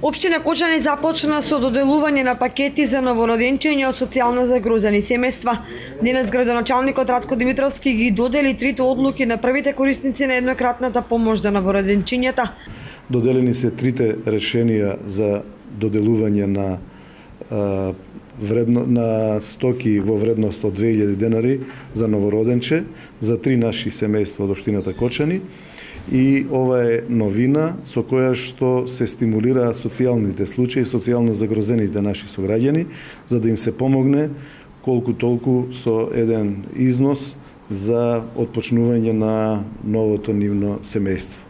Општина Кочани започна со доделување на пакети за новороденчиња од социјално загрозени семејства. Денес градоначалникот Рацко Димитровски ги додели трите одлуки на првите корисници на еднократната помош за новороденчињата. Доделени се трите решенија за доделување на на стоки во вредност од 2000 денари за новороденче за 3 наши семејства од општината Кочани. И ова е новина со која што се стимулира социјалните случаи, социјално загрозените наши сограѓани, за да им се помогне колку толку со еден износ за отпочнување на новото нивно семејство.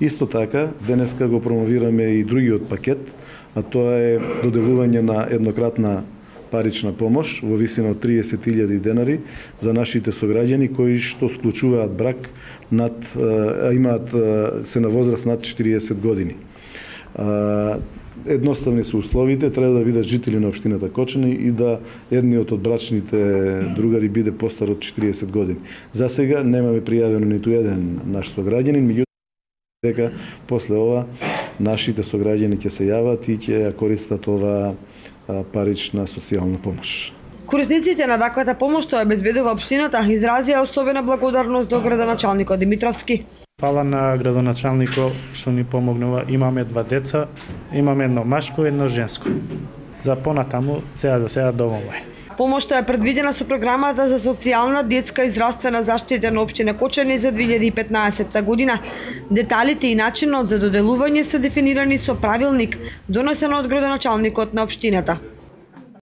Исто така, денеска го промовираме и другиот пакет, а тоа е доделување на еднократна парична помош во висина од 30.000 денари за нашите сограѓани кои што склучуваат брак имаат се на возраст над 40 години. Едноставни се условите, треба да бидат жители на општината Кочани и да едниот од брачните другари биде постар од 40 години. За сега немаме пријавено ниту еден наш сограѓанин, меѓутоа дека после ова нашите сограѓани ќе се јават и ќе ја користат ова парична социјална помош. Корисниците на ваквата помош што ја обезбедува општината изразија особена благодарност до градоначалникот Димитровски. Фала на градоначалникот што ни помогнува. Имаме 2 деца, имаме едно машко и едно женско. За понатаму до сега доволно е. Помошта е предвидена со програмата за социјална, детска и здравствена заштита на општина Кочани за 2015 година. Деталите и начинот за доделување се дефинирани со правилник донесен од градоначалникот на општината.